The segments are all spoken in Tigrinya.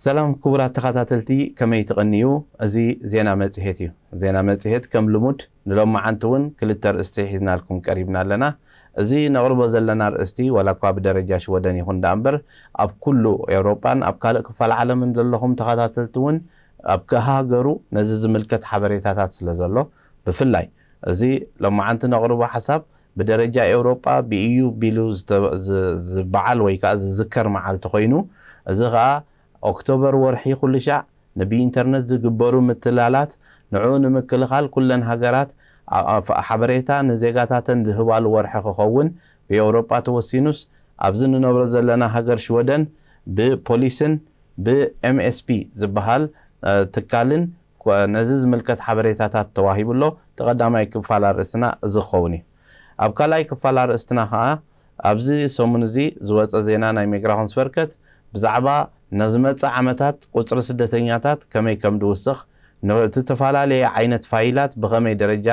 ሰላም ክቡራት ተኸታተልቲ፣ ከመይ ትቕንዩ? እዚ ዜና መጽሔት እዩ። ዜና መጽሔት ከም ልሙድ ንሎማዓንቲ እውን ክልተ ኣርእስቲ ሒዝናልኩም ቀሪብና ኣለና። እዚ ነቕርቦ ዘለና ኣርእስቲ ዋላ እኳ ብደረጃ ሽወደን ይኹን ደኣ እምበር፣ ኣብ ኩሉ ኤውሮጳን ኣብ ካልእ ክፋል ዓለምን ዘለኹም ተኸታተልቲ እውን ኣብ ከሃገሩ ነዚ ዝምልከት ሓበሬታታት ስለ ዘሎ፣ ብፍላይ እዚ ሎማዓንቲ ነቕርቦ ሓሳብ ብደረጃ ኤውሮጳ ብኢዩ ቢሉ ዝተ-፣ ዝ-፣ ዝበዓል ወይ ከኣ ዝዝከር መዓልቲ ኮይኑ፣ እዚ ከኣ ኦክቶበር ወርሒ ኩሉ ሻዕ ንብኢንተርነት ዝግበሩ ምትላላት፣ ንዕኡ ንምክልኻል ኩለን ሃገራት ኣ-፣ ኣ-፣ ሓበሬታ ንዜጋታተን ዝህባሉ ወርሒ ክኸውን ብኤውሮጳ ተወሲኑስ፣ ኣብዚ ንነብሮ ዘለና ሃገር ሽወደን ብፖሊስን ብኤምኤስፒ ዝበሃል፣ እ፣ ትካልን ኮ-፣ ነዚ ዝምልከት ሓበሬታታት ተዋሂቡ ኣሎ። እቲ ቀዳማይ ክፋል ኣርእስትና እዚ ክኸውን እዩ። ኣብ ካልኣይ ክፋል ኣርእስትና ኸኣ፣ ኣብዚ ሰሙን እዚ ዝወጸ ዜና ናይ ሚግራሾንስቨርከት ብዛዕባ ንዝመጽእ ዓመታት ቁጽሪ ስደተኛታት ከመይ ከም ዝውስኽ፣ ን-፣ እቲ ዝተፈላለየ ዓይነት ፋይላት ብኸመይ ደረጃ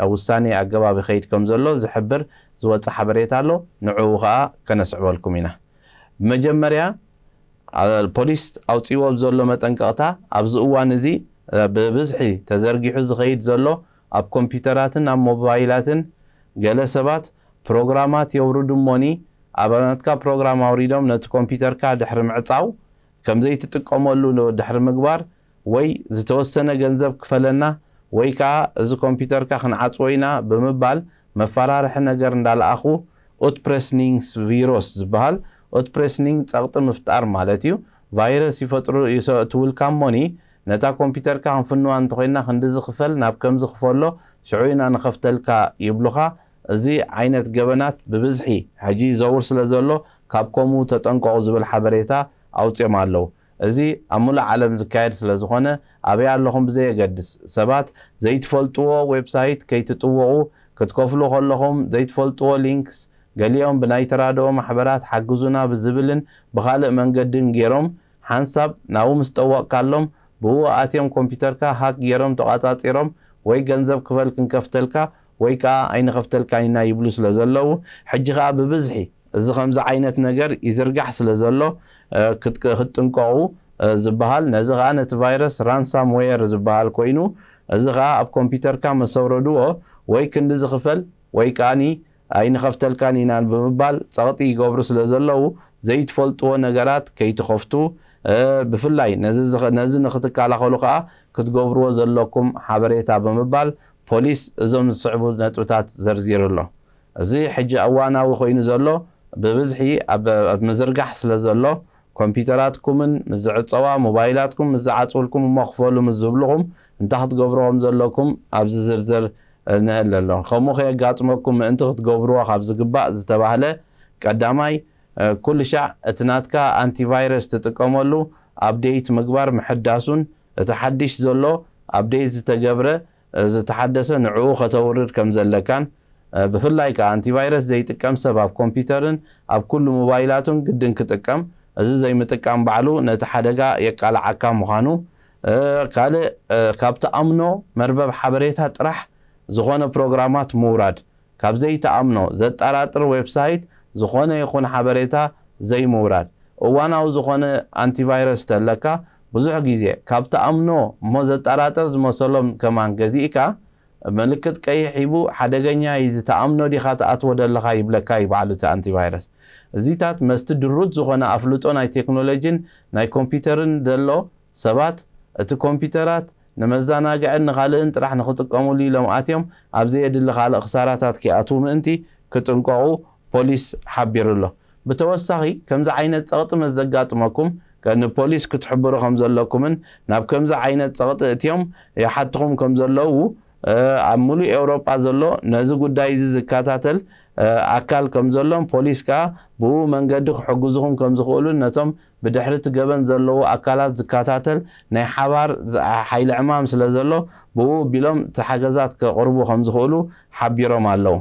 ኣብ ውሳኔ ኣገባብ ይኸይድ ከም ዘሎ ዝሕብር ዝወጸ ሓበሬታ ኣሎ። ንዕኡ ኸኣ ከነስዕበልኩም ኢና። ብመጀመርያ፣ ኣ-፣ ፖሊስ ኣውጺእዎ ዘሎ መጠንቀቕታ፣ ኣብዚ እዋን እዚ፣ እ፣ ብብዝሒ ተዘርጊሑ ዝኸይድ ዘሎ፣ ኣብ ኮምፒውተራትን ኣብ ሞባይላትን ገለ ሰባት ፕሮግራማት የውርዱ እሞኒ፣ ኣብ ናትካ ፕሮግራም ኣውሪዶም ነቲ ኮምፒውተርካ ድሕሪ ምዕጻው፣ ከም ዘይትጥቀመሉ ን-፣ ድሕሪ ምግባር፣ ወይ ዝተወሰነ ገንዘብ ክፈለና፣ ወይ ከኣ እዚ ኮምፒውተርካ ክንዓጽዎ ኢና ብምባል መፈራርሒ ነገር እንዳለኣኹ፣ ኡትፕሬስኒንግስ ቪሮስ ዝበሃል፣ ኡትፕሬስኒንግ ጸቕጢ ምፍጣር ማለት እዩ። ቫይረስ ይፈጥሩ፣ ይሰእትውልካ እሞኒ፣ ነታ ኮምፒውተርካ ክንፍንዋ እንተኾይንና ክንድዚ ክፈል፣ ናብ ከምዚ ክፈሎ፣ ሽዑ ኢና ንኸፍተልካ ይብሉኻ። እዚ ዓይነት ገበናት ብብዝሒ ሕጂ ይዘውር ስለ ዘሎ፣ ካብ ከምኡ ተጠንቀቑ ዝብል ሓበሬታ ኣውጺኦም ኣለዉ። እዚ ኣብ ምሉእ ዓለም ዝካየድ ስለ ዝኾነ፣ ኣበይ ኣለኹም ብዘየገድስ፣ ሰባት ዘይትፈልጥዎ ዌብሳይት ከይትጥውቑ፣ ክትከፍሉ ከለኹም ዘይትፈልጥዎ ሊንክስ፣ ገሊኦም ብናይ ተራድኦ ማሕበራት ሓግዙና ብዝብልን ብኻልእ መንገድን ገይሮም፣ ሓንሳብ ናብኡ ምስ ጠወቕካሎም፣ ብኡ ኣትዮም ኮምፒውተርካ ሃክ ገይሮም ተቋጻጺሮም፣ ወይ ገንዘብ ክፈል ክንከፍተልካ ወይ ከኣ ኣይንኸፍተልካን ኢና ይብሉ ስለ ዘለዉ፣ ሕጂ ከኣ ብብዝሒ እዚ ከምዚ ዓይነት ነገር ይዝርጋሕ ስለ ዘሎ፣ እ፣ ክት-፣ ክትጥንቀቑ፣ እ፣ ዝበሃል። ነዚ ከኣ ነቲ ቫይረስ ራንሳምዌር ዝበሃል ኮይኑ፣ እዚ ከኣ ኣብ ኮምፒውተርካ መሰውረድዎ ወይ ክንዲ ዝኽፈል ወይ ከኣኒ ኣይንኸፍተልካን ኢና ብምባል ጸቕጢ ይገብሩ ስለ ዘለዉ፣ ዘይትፈልጥዎ ነገራት ከይትኸፍቱ፣ እ፣ ብፍላይ ነዚ ዝኸ-፣ ነዚ ንኽትከላኸሉ ከኣ ክትገብርዎ ዘለኩም ሓበሬታ ብምባል ፖሊስ እዞም ዝስዕቡ ነጥብታት ዘርዚሩ ኣሎ። እዚ ሕጂ እዋናዊ ኮይኑ ዘሎ ብብዝሒ ኣብ፣ ኣብ ምዝርጋሕ ስለ ዘሎ፣ ኮምፒውተራትኩምን ምስ ዝዕጸዋ፣ ሞባይላትኩም ምስ ዝዓጽውልኩም እሞ ክፈሉ ምስ ዝብልኹም እንታይ ክትገብሩ ከም ዘለኩም ኣብዚ ዝርዝር ንእለ ኣሎ። ከምኡ ከየጋጥመኩም ምእንቲ ክትገብርዎ ካብ ዝግባእ ዝተባህለ፣ ቀዳማይ፣ እ፣ ኩሉ ሻዕ እቲ ናትካ ኣንቲቫይረስ ትጥቀመሉ ኣፕዴት ምግባር ምሕዳሱን፣ እቲ ሓድሽ ዘሎ ኣፕዴት ዝተገብረ፣ እ፣ ዝተሓደሰ ንዕኡ ከተውርድ ከም ዘለካን፣ እ፣ ብፍላይ ከኣ ኣንቲቫይረስ ዘይጥቀም ሰብ ኣብ ኮምፒውተርን ኣብ ኩሉ ሞባይላቱን ግድን ክጥቀም፣ እዚ ዘይምጥቃም ባዕሉ ነቲ ሓደጋ የቃልዓካ ምዃኑ፣ እ፣ ካልእ፣ እ፣ ካብ ትኣምኖ መርበብ ሓበሬታ ጥራሕ ዝኾነ ፕሮግራማት ምውራድ፣ ካብ ዘይትኣምኖ ዘጠራጥር ዌብሳይት ዝኾነ ይኹን ሓበሬታ ዘይምውራድ። እዋናዊ ዝኾነ ኣንቲቫይረስ ተለካ፣ ብዙሕ ግዜ ካብ ትኣምኖ እሞ ዘጠራጥር ዝመሰሎም ከማን ገዚእካ፣ ምልክት ቀይሕ ሂቡ፣ ሓደገኛ እዩ፣ እዚ ትኣምኖ ዲኻ ትኣትዎ ዘለኻ ይብለካ እዩ ባዕሉ እቲ ኣንቲቫይረስ። እዚታት መስቲ ድሩት ዝኾነ ኣፍልጦ ናይ ቴክኖሎጂን ናይ ኮምፒውተርን ዘሎ ሰባት፣ እቲ ኮምፒውተራት ንመዘናግዕን ንኻልእን ጥራሕ ንኽጥቀሙሉ ኢሎም ኣትዮም፣ ኣብ ዘየድሊ ካልእ ክሳራታት ከይኣትዉ ምእንቲ ክጥንቀቑ ፖሊስ ሓቢሩ ኣሎ። ብተወሳኺ፣ ከምዚ ዓይነት ጸቕጢ ምስ ዘጋጥመኩም፣ ከ-፣ ንፖሊስ ክትሕብሩ ከም ዘለኩምን ናብ ከምዚ ዓይነት ጸቕጢ እትዮም ይሓትኹም ከም ዘለዉ፣ እ፣ ኣብ ምሉእ ኤውሮጳ ዘሎ ነዚ ጉዳይ እዚ ዝከታተል፣ እ፣ ኣካል ከም ዘሎን ፖሊስ ከኣ ብኡ መንገዲ ክሕግዙኹም ከም ዝኽእሉን ነቶም ብድሕሪ እቲ ገበን ዘለዉ ኣካላት ዝከታተል ናይ ሓባር ዝ-፣ ሓይሊ ዕማም ስለ ዘሎ፣ ብኡ ኣቢሎም እቲ ሓገዛት ከቕርቡ ከም ዝኽእሉ ሓቢሮም ኣለዉ።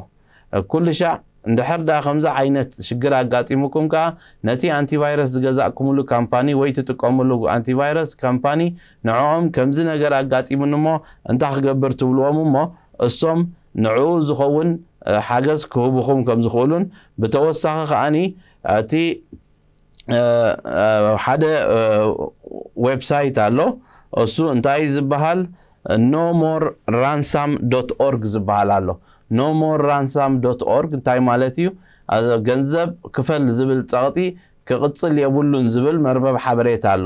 ኩሉ ሻዕ እንድሕር ደኣ ከምዚ ዓይነት ሽግር ኣጋጢሙኩም ከኣ ነቲ ኣንቲቫይረስ ዝገዛእኩምሉ ካምፓኒ ወይ ትጥቀምሉ ኣንቲቫይረስ ካምፓኒ ንዕኦም ከምዚ ነገር ኣጋጢሙኒ እሞ እንታይ ክገብር ትብልዎም እሞ እሶም ንዕኡ ዝኸውን ሓገዝ ክህቡኹም ከም ዝኽእሉን ብተወሳኺ ከኣኒ እቲ ሓደ ዌብሳይት ኣሎ። እሱ እንታይ ዝበሃል? No more ransom dot org ዝበሃል ኣሎ። No more ransom dot org እንታይ ማለት እዩ? ገንዘብ ክፈል ዝብል ጸቕጢ ክቕጽል የብሉን ዝብል መርበብ ሓበሬታ ኣሎ።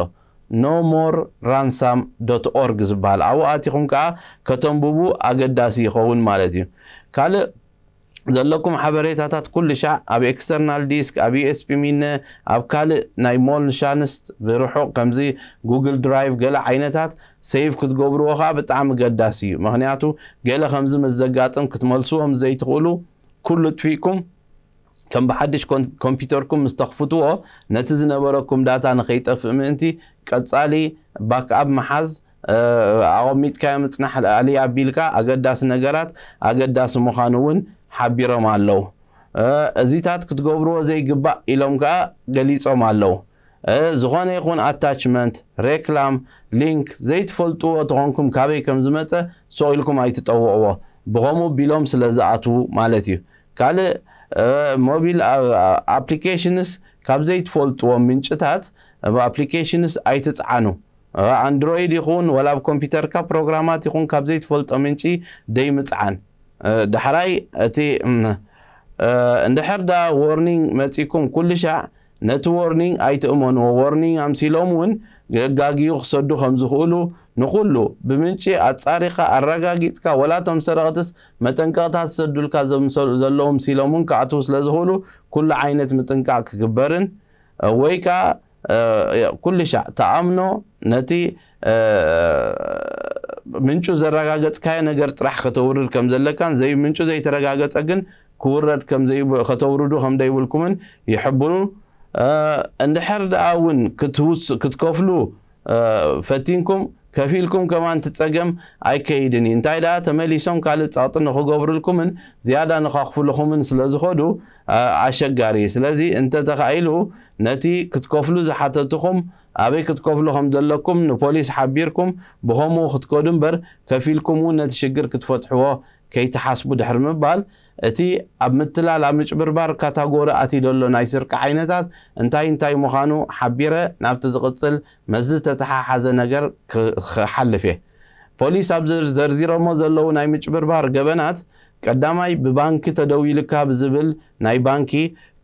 No more ransom dot org ዝበሃል ኣብኡ ኣቲኹም ከዓ ከተንብቡ ኣገዳሲ ይኸውን ማለት እዩ። ካልእ ዘለኩም ሓበሬታታት ኩሉ ሻዕ ኣብ ኤክስተርናል ዲስክ ኣብ ዩኤስቢ ሚነ ኣብ ካልእ ናይ ሞልሻንስት ብርሑቕ ከምዚ ጉግል ድራይቭ ገለ ዓይነታት ሰይቭ ክትገብርዎ ከዓ ብጣዕሚ ገዳሲ እዩ። ምክንያቱ ገለ ከምዚ ምስ ዘጋጥም ክትመልስዎም ዘይትኽእሉ ኩሉ ጥፊእኩም ከም ብሓድሽ ኮምፒውተርኩም ምስ ተኽፍትዎ ነቲ ዝነበረኩም ዳታ ንኸይጠፍእ ምእንቲ ቀጻሊ ባክኣፕ ምሓዝ ኣቐሚጥካዮ ምጽናሕ ኣሊ ኣቢልካ ኣገዳሲ ነገራት ኣገዳሲ ምዃኑ እውን ሓቢሮም ኣለዉ። እዚታት ክትገብርዎ ዘይግባእ ኢሎም ከኣ ገሊጾም ኣለዉ። ዝኾነ ይኹን ኣታችመንት፣ ሬክላም፣ ሊንክ ዘይትፈልጥዎ ተኾንኩም ካበይ ከም ዝመጸ ሱቕ ኢልኩም ኣይትጠውቕዎ። ብኸምኡ ቢሎም ስለ ዝኣትዉ ማለት እዩ። ካልእ ሞቢል ኣፕሊኬሽንስ ካብ ዘይትፈልጥዎም ምንጭታት ኣፕሊኬሽንስ ኣይትጽዓኑ። ኣንድሮይድ ይኹን ወላ ኣብ ኮምፒውተርካ ፕሮግራማት ይኹን ካብ ዘይትፈልጦ ምንጪ ደይምጽዓን። ዳሕራይ እቲ እንድሕር ዳ ዎርኒንግ መጺኩም ኩሉ ሻዕ ነቲ ዎርኒንግ ኣይትእመንዎ። ዎርኒንግ ኣምሲሎም እውን ገጋግዩ ክሰዱ ከም ዝኽእሉ ንኹሉ ብምንጪ ኣጻሪኻ ኣረጋጊጽካ ወላ እቶም ሰረቕትስ መጠንቀቕታ ዝሰዱልካ ዘለዉ ምሲሎም እውን ክኣትዉ ስለ ዝኽእሉ ኩሉ ዓይነት ምጥንቃቕ ክግበርን ወይ ከዓ ኩሉ ሻዕ ተኣምኖ ነቲ ምንጩ ዘረጋገጽካዮ ነገር ጥራሕ ከተውርድ ከም ዘለካን ዘይ ምንጩ ዘይተረጋገጸ ግን ክውረድ ከም ከተውርዱ ከም ደይብልኩምን ይሕብሩ። እንድሕር ደኣ እውን ክትከፍሉ ፈቲንኩም ከፊልኩም ከማን ትጸገም ኣይከይድን እዩ። እንታይ ደኣ ተመሊሶም ካልእ ጸቕጢ ንኽገብሩልኩምን ዝያዳ ንኸኽፍልኹምን ስለ ዝኸዱ ኣሸጋሪ እዩ። ስለዚ እንተ ተኻኢሉ ነቲ ክትከፍሉ ዝሓተትኹም ኣበይ ክትከፍሉ ከም ዘለኩም ንፖሊስ ሓቢርኩም ብኸምኡ ክትከዱ እምበር ከፊልኩም እውን ነቲ ሽግር ክትፈትሕዎ ከይትሓስቡ ድሕሪ ምባል እቲ ኣብ ምትላል ኣብ ምጭብርባር ካታጎሪ ኣትዩ ዘሎ ናይ ስርቂ ዓይነታት እንታይ እንታይ ምዃኑ ሓቢረ ናብቲ ዝቕጽል መዚ ዝተተሓሓዘ ነገር ክሓልፍ እየ። ፖሊስ ኣብ ዘርዚሮሞ ዘለዉ ናይ ምጭብርባር ገበናት ቀዳማይ ብባንኪ ተደዊልካ ብዝብል ናይ ባንኪ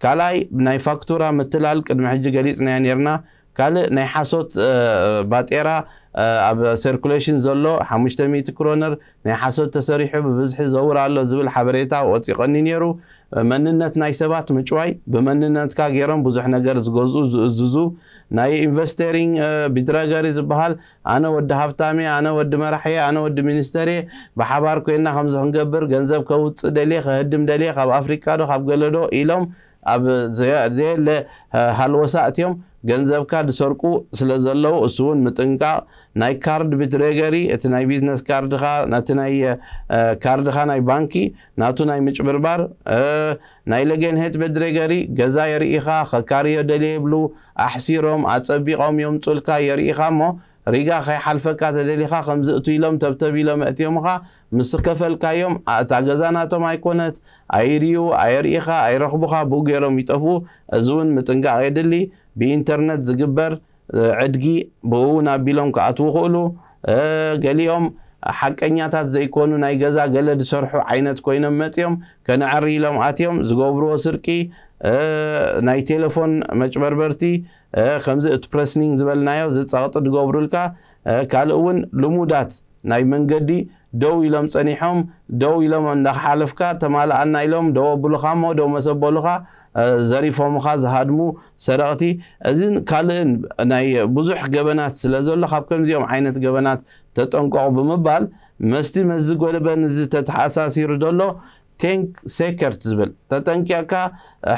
ካልኣይ ናይ ፋክቱራ ምትላል ቅድሚ ሕጂ ገሊጽናዮ ኔርና ካልእ ናይ ሓሶት ባጤራ ኣብ ሰርኩሌሽን ዘሎ ሓሙሽተ ሚእቲ ክሮነር ናይ ሓሶት ተሰሪሑ ብብዝሒ ዘውር ኣሎ ዝብል ሓበሬታ ወፂቐኒ ነይሩ። መንነት ናይ ሰባት ምጭዋይ ብመንነትካ ገይሮም ብዙሕ ነገር ዝገዝኡ ዝእዝዙ ናይ ኢንቨስተሪንግ ቢድረገሪ ዝበሃል ኣነ ወዲ ሃብታም እየ ኣነ ወዲ መራሕ እየ ኣነ ወዲ ሚኒስተር እየ ብሓባር ኮይና ከምዚ ክንገብር ገንዘብ ከውፅእ ደልየ ከህድም ደልየ ካብ ኣፍሪካ ዶ ካብ ገለ ዶ ኢሎም ኣብ ዘየለ ሃልወሳ እትዮም ገንዘብካ ዝሰርቁ ስለ ዘለዉ እሱ እውን ምጥንቃቕ ናይ ካርድ ብትሬገሪ እቲ ናይ ቢዝነስ ካርድኻ ነቲ ናይ ካርድኻ ናይ ባንኪ ናቱ ናይ ምጭብርባር ናይ ለጌንሄት በድሬገሪ ገዛ የርኢኻ ከካርዮ ደልየ ይብሉ ኣሕሲሮም ኣጸቢቖም የምጹልካ የርኢኻ እሞ ሪጋ ከይሓልፈካ ተደሊኻ ከምዚ እቱ ኢሎም ተብተብ ኢሎም ኣእትዮምኻ ምስ ከፈልካዮም እታ ገዛ ናቶም ኣይኮነት ኣይርዩ ኣየርኢኻ ኣይረኽቡኻ ብኡ ገይሮም ይጠፍኡ። እዚ እውን ምጥንቃቕ የድሊ። ብኢንተርነት ዝግበር ዕድጊ ብኡ እውን ኣቢሎም ክኣትዉ ይኽእሉ። ገሊኦም ሓቀኛታት ዘይኮኑ ናይ ገዛ ገለ ዝሰርሑ ዓይነት ኮይኖም መፂኦም ከነዕሪ ኢሎም ኣትዮም ዝገብርዎ ስርቂ ናይ ቴሌፎን መጭበርበርቲ ከምዚ እቲ ፕረስኒንግ ዝበልናዮ ዝፀቕጢ ዝገብሩልካ ካልእ እውን ልሙዳት ናይ መንገዲ ደው ኢሎም ጸኒሖም ደው ኢሎም እንዳሓለፍካ ተማልኣና ኢሎም ደው ኣብሉኻ እሞ ደው መሰበሉኻ ዘሪፎምኻ ዝሃድሙ ሰረቕቲ እዚን ካልእን ናይ ብዙሕ ገበናት ስለ ዘሎ ካብ ከምዚኦም ዓይነት ገበናት ተጠንቀቑ ብምባል መስቲ መዚ ጎለበን እዚ ተተሓሳሲሩ ዘሎ ቴንክ ሴከርት ዝብል ተጠንቂቕካ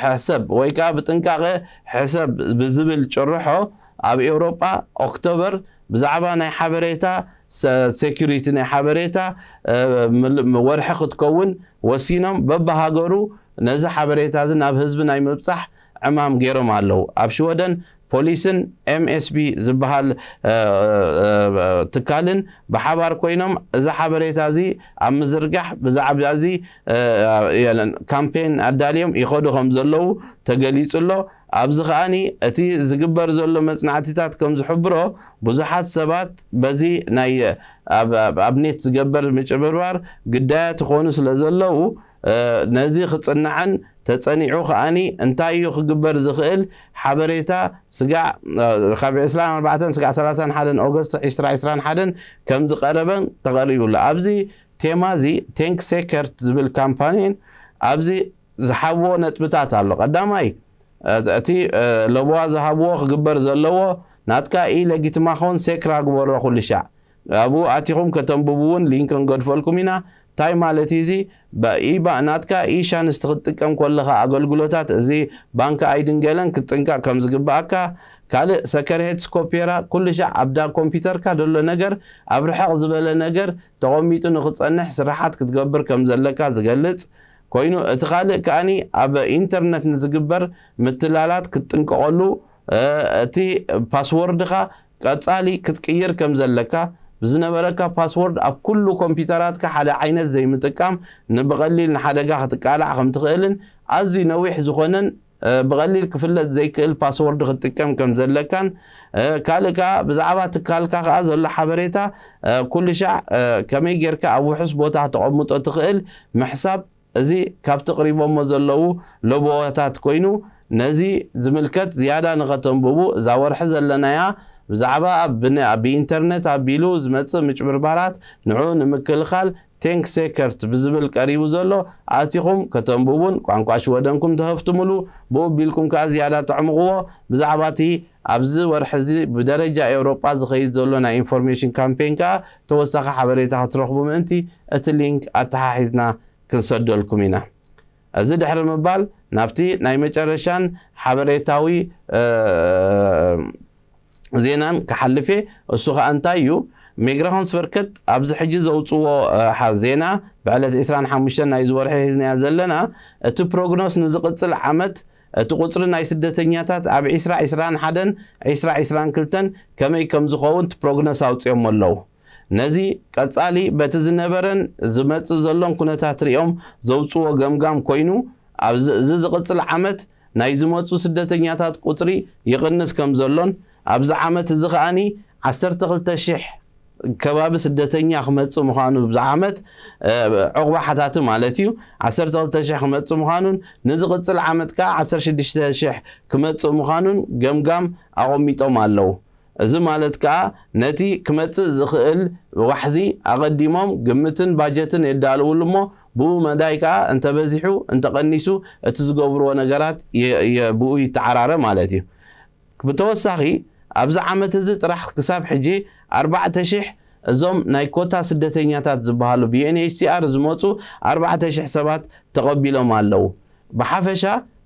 ሕሰብ ወይ ከዓ ብጥንቃቐ ሕሰብ ብዝብል ጭርሖ ኣብ ኤውሮጳ ኦክቶበር ብዛዕባ ናይ ሓበሬታ ሴኩሪቲ ናይ ሓበሬታ ወርሒ ክትከውን ወሲኖም በብሃገሩ ነዚ ሓበሬታ እዚ ናብ ህዝቢ ናይ ምብጻሕ ዕማም ገይሮም ኣለዉ። ኣብ ሽወደን ፖሊስን ኤምኤስቢ ዝበሃል ትካልን ብሓባር ኮይኖም እዚ ሓበሬታ እዚ ኣብ ምዝርጋሕ ብዛዕባ እዚ ካምፔን ኣዳልዮም ይኸዱ ከም ዘለዉ ተገሊጹ ኣሎ። ኣብዚ ከኣኒ እቲ ዝግበር ዘሎ መጽናዕቲታት ከም ዝሕብሮ ብዙሓት ሰባት በዚ ናይ ኣብ ኣብኔት ዝገበር ምጭብርባር ግዳያት ይኾኑ ስለ ዘለዉ ነዚ ክጽናዕን ተጸኒዑ ከኣኒ እንታይ እዩ ክግበር ዝኽእል ሓበሬታ ስጋዕ ካብ ዕስራን ኣርባዕተን ስጋዕ ሰላሳን ሓደን ኦገስት ዕስራ ዕስራን ሓደን ከም ዝቐረበን ተቐሪቡ ኣሎ። ኣብዚ ቴማ እዚ ቴንክ ሴከርት ዝብል ካምፓኒን ኣብዚ ዝሓብዎ ነጥብታት ኣሎ። ቀዳማይ እቲ ለበዋ ዝሃብዎ ክግበር ዘለዎ ናትካ ኢ ለጊትማኾን ሴክራ ግበሮ ኩሉ ሻዕ ኣብኡ ኣቲኹም ከተንብቡ እውን ሊንክ ክንገድፈልኩም ኢና። እንታይ ማለት እዩ እዚ? ኢባ ናትካ ኢ ሻንስ ክትጥቀም ከለኻ ኣገልግሎታት እዚ ባንክ ኣይድን ገለን ክትጥንቀቕ ከም ዝግባኣካ። ካልእ ሰከርሄት ስኮፔራ ኩሉ ሻዕ ኣብዳ ኮምፒውተርካ ዘሎ ነገር ኣብ ርሕቕ ዝበለ ነገር ተቐሚጡ ንክጸንሕ ስራሓት ክትገብር ከም ዘለካ ዝገልጽ ኮይኑ እቲ ካልእ ከኣኒ ኣብ ኢንተርነት ንዝግበር ምትላላት ክትጥንቀቐሉ እቲ ፓስወርድኻ ቀጻሊ ክትቅይር ከም ዘለካ ብዝነበረካ ፓስወርድ ኣብ ኩሉ ኮምፒውተራትካ ሓደ ዓይነት ዘይምጥቃም ንብቐሊል ንሓደጋ ክትቃላዕ ከም ትኽእልን ኣዝዩ ነዊሕ ዝኾነን ብቐሊል ክፍለጥ ዘይክእል ፓስወርድ ክትጥቀም ከም ዘለካን ካልእ ከዓ ብዛዕባ ትካልካ ከዓ ዘሎ ሓበሬታ ኩሉ ሻዕ ከመይ ጌርካ ኣብ ውሑስ ቦታ ክተቐምጦ ትኽእል ምሕሳብ እዚ ካብቲ ቅሪቦሞ ዘለዉ ለበዋታት ኮይኑ ነዚ ዝምልከት ዝያዳ ንኸተንብቡ እዛ ወርሒ ዘለናያ ብዛዕባ ብኢንተርነት ኣቢሉ ዝመፅእ ምጭብርባራት ንዑ ንምክልኻል ቴንክ ሴከርት ብዝብል ቀሪቡ ዘሎ ኣቲኹም ከተንብቡን ቋንቋ ሽወደንኩም ተኸፍትምሉ ብኡ ቢልኩም ከዓ ዝያዳ ተዕምቕዎ ብዛዕባ እቲ ኣብዚ ወርሒ እዚ ብደረጃ ኤውሮጳ ዝኸይድ ዘሎ ናይ ኢንፎርሜሽን ካምፔን ከዓ ተወሳኺ ሓበሬታ ክትረኽቡ ምእንቲ እቲ ሊንክ ኣተሓሒዝና ክንሰደልኩም ኢና። እዚ ድሕሪ ምባል ናብቲ ናይ መጨረሻን ሓበሬታዊ ዜናን ክሓልፍ እየ። እሱ ከዓ እንታይ እዩ? ሜግራሆንስቨርከት ኣብዚ ሕጂ ዘውፅዎ ዜና ብዕለት ዕስራን ሓሙሽተን ናይ ዝወርሒ ሒዝናያ ዘለና እቲ ፕሮግኖስ ንዝቕፅል ዓመት እቲ ቁፅሪ ናይ ስደተኛታት ኣብ ዕስራ ዕስራን ሓደን ዕስራ ዕስራን ክልተን ከመይ ከም ዝኸውን እቲ ፕሮግኖስ ኣውፅኦሞ ኣለዉ። ነዚ ቀጻሊ በቲ ዝነበረን ዝመጽእ ዘሎን ኩነታት ሪኦም ዘውጽዎ ገምጋም ኮይኑ፣ ኣብዚ እዚ ዝቕጽል ዓመት ናይ ዝመጹ ስደተኛታት ቁጽሪ ይቕንስ ከም ዘሎን ኣብዚ ዓመት እዚ ከኣኒ ዓሰርተ ክልተ ሽሕ ከባቢ ስደተኛ ክመጽእ ምዃኑ ኣብዚ ዓመት ዑቕባ ሓታቲ ማለት እዩ ዓሰርተ ክልተ ሽሕ ክመጽእ ምዃኑን ንዝቕጽል ዓመት ከኣ ዓሰርተ ሽዱሽተ ሽሕ ክመጽእ ምዃኑን ገምጋም ኣቐሚጦም ኣለዉ። እዚ ማለት ከኣ ነቲ ክመጽእ ዝኽእል ዋሕዚ ኣቐዲሞም ግምትን ባጀትን የዳልውሉ እሞ ብኡ መዳይ ከኣ እንተበዚሑ እንተቐኒሱ እቲ ዝገብርዎ ነገራት ብኡ ይተዓራረ ማለት እዩ። ብተወሳኺ ኣብዚ ዓመት እዚ ጥራሕ ክሳብ ሕጂ ኣርባዕተ ሽሕ እዞም ናይ ኮታ ስደተኛታት ዝበሃሉ ብዩኤንኤችሲኣር ዝመፁ ኣርባዕተ ሽሕ ሰባት ተቐቢሎም ኣለዉ። ብሓፈሻ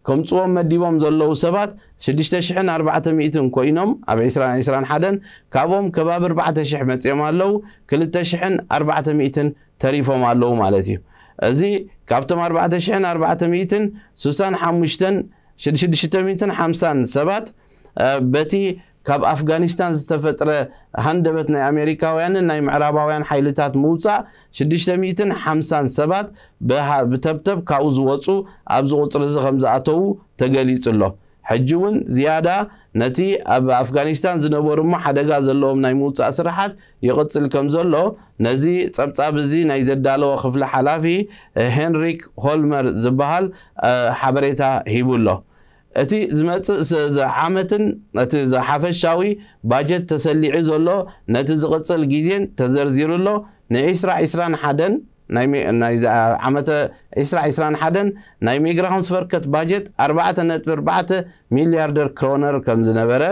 ከምፅዎም መዲቦም ዘለዉ ሰባት ሽዱሽተ ሽሕን ኣርባዕተ ሚእትን ኮይኖም ኣብ ዕስራን ዕስራን ሓደን ካብኦም ከባቢ ኣርባዕተ ሽሕ መፅኦም ኣለዉ። ክልተ ሽሕን ኣርባዕተ ሚእትን ተሪፎም ኣለዉ ማለት እዩ። እዚ ካብቶም ኣርባዕተ ሽሕን ኣርባዕተ ሚእትን ስሳን ሓሙሽተን ሽዱሽተ ሚእትን ሓምሳን ሰባት በቲ ካብ ኣፍጋኒስታን ዝተፈጥረ ሃንደበት ናይ ኣሜሪካውያንን ናይ ምዕራባውያን ሓይልታት ምውፃእ ሽዱሽተ ሚእትን ሓምሳን ሰባት ብተብተብ ካብኡ ዝወፁ ኣብዚ ቁፅሪ እዚ ከም ዝኣተዉ ተገሊፁ ኣሎ። ሕጂ እውን ዝያዳ ነቲ ኣብ ኣፍጋኒስታን ዝነበሩ እሞ ሓደጋ ዘለዎም ናይ ምውፃእ ስራሓት ይቕፅል ከም ዘሎ ነዚ ፀብፃብ እዚ ናይ ዘዳለወ ክፍሊ ሓላፊ ሄንሪክ ሆልመር ዝበሃል ሓበሬታ ሂቡ ኣሎ። እቲ ዝመፅእ ዓመትን እቲ ሓፈሻዊ ባጀት ተሰሊዑ ዘሎ ነቲ ዝቕፅል ግዜን ተዘርዚሩ ኣሎ። ንዒስራ ዒስራን ሓደን ናይ ዓመተ ዒስራ ዒስራን ሓደን ናይ ሚግራሆንስቨርከት ባጀት ኣርባዕተ ነጥቢ ኣርባዕተ ሚልያርደር ክሮነር ከም ዝነበረ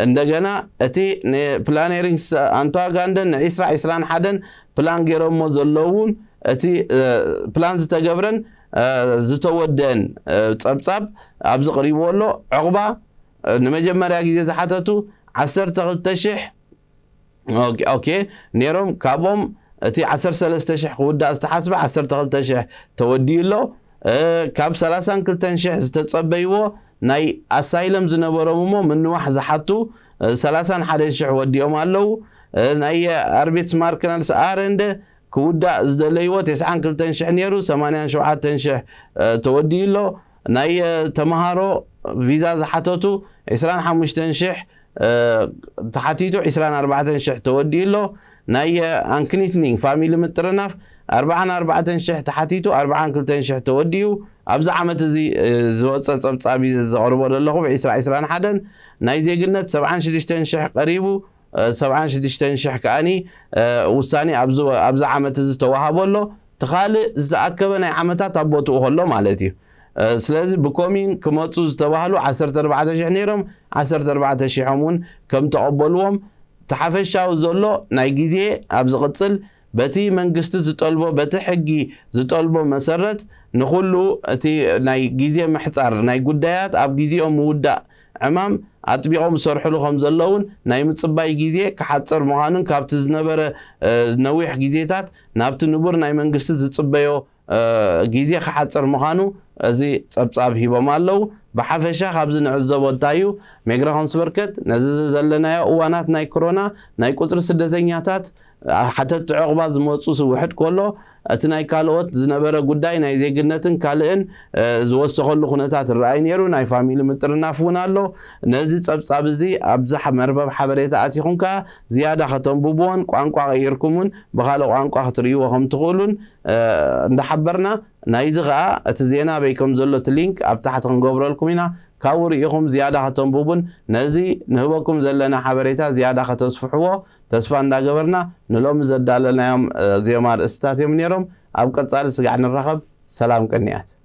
እንደገና እቲ ንፕላኔሪንግስ ኣንታጋንደን ንዒስራ ዒስራን ሓደን ፕላን ገይሮሞ ዘለውን እቲ ፕላን ዝተገብረን ዝተወደአን ፀብፃብ ኣብዚ ቅሪብዎ ኣሎ። ዕቑባ ንመጀመርያ ግዜ ዝሓተቱ ዓሰርተ ክልተ ሽሕ ኦኬ ነይሮም። ካብኦም እቲ ዓሰርተ ሰለስተ ሽሕ ክውዳእ ዝተሓስበ ዓሰርተ ክልተ ሽሕ ተወዲኡ ኣሎ። ካብ ሰላሳን ክልተን ሽሕ ዝተጸበይዎ ናይ ኣሳይለም ዝነበሮም እሞ ምንዋሕ ዝሓቱ ሰላሳን ሓደን ሽሕ ወዲኦም ኣለዉ። ናይ ኣርቤትስማርክናልስ ኣረንደ ክውዳእ ዝደለይዎ ተስዓን ክልተን ሽሕ ነይሩ፣ ሰማንያን ሸውዓተን ሽሕ ተወዲኡ ኣሎ። ናይ ተምሃሮ ቪዛ ዝሓተቱ ዕስራን ሓሙሽተን ሽሕ ተሓቲቱ ዕስራን ኣርባዕተን ሽሕ ተወዲኡ ኣሎ። ናይ ኣንክኒትኒንግ ፋሚሊ ምጥርናፍ ኣርባዓን ኣርባዕተን ሽሕ ተሓቲቱ ኣርባዓን ክልተን ሽሕ ተወዲኡ። ኣብዚ ዓመት እዚ ዝወፀ ፀብፃብ ዘቕርቦ ዘለኹ ዕስራ ዕስራን ሓደን ናይ ዜግነት ሰብዓን ሽዱሽተን ሽሕ ቀሪቡ። ሰብዓን ሽዱሽተን ሽሕ ከኣኒ ውሳኔ ኣብዚ ዓመት እዚ ተዋሃቦ ኣሎ። እቲ ካልእ ዝተኣከበ ናይ ዓመታት ኣብ ቦትኡ ከሎ ማለት እዩ። ስለዚ ብኮሚን ክመፁ ዝተባህሉ ዓሰርተ ኣርባዕተ ሽሕ ነይሮም፣ ዓሰርተ ኣርባዕተ ሽሖም እውን ከም ተቐበልዎም፣ እቲ ሓፈሻዊ ዘሎ ናይ ግዜ ኣብ ዝቕፅል በቲ መንግስቲ ዝጠልቦ፣ በቲ ሕጊ ዝጠልቦ መሰረት ንኹሉ እቲ ናይ ግዜ ምሕፃር ናይ ጉዳያት ኣብ ግዜኦም ምውዳእ ዕማም ኣጥቢቖም ዝሰርሕሉ ከም ዘለውን ናይ ምፅባይ ግዜ ክሓፅር ምዃኑን ካብቲ ዝነበረ ነዊሕ ግዜታት ናብቲ ንቡር ናይ መንግስቲ ዝፅበዮ ግዜ ክሓፅር ምዃኑ እዚ ፀብፃብ ሂቦም ኣለዉ። ብሓፈሻ ካብዚ ንዕዘቦ እንታይ እዩ? ሜግራ ኮንስበርከት ነዚ ዘለናዮ እዋናት ናይ ኮሮና ናይ ቁፅሪ ስደተኛታት ሓተቲ ዕቑባ ዝመፁ ውሕድ ከሎ እቲ ናይ ካልኦት ዝነበረ ጉዳይ ናይ ዜግነትን ካልእን ዝወሰኸሉ ኩነታት ይረኣይ ነይሩ። ናይ ፋሚሊ ምጥርናፍ እውን ኣሎ። ነዚ ፀብፃብ እዚ ኣብዚ መርበብ ሓበሬታ ኣቲኹም ከዓ ዝያዳ ከተንብብዎን ቋንቋ ቀይርኩምን ብካልእ ቋንቋ ክትርእይዎ ከም ትኽእሉን እንዳሓበርና፣ ናይዚ ከዓ እቲ ዜና በይ ከም ዘሎ እቲ ሊንክ ኣብ ታሕቲ ክንገብረልኩም ኢና። ካብኡ ርኢኹም ዝያዳ ከተንብቡን ነዚ ንህበኩም ዘለና ሓበሬታ ዝያዳ ከተስፍሕዎ ተስፋ እንዳገበርና፣ ንሎሚ ዘዳለናዮም እዚኦም ኣርእስትታት እዮም ነይሮም። ኣብ ቀጻሊ ስጋዕ ንራኸብ። ሰላም ቅንያት።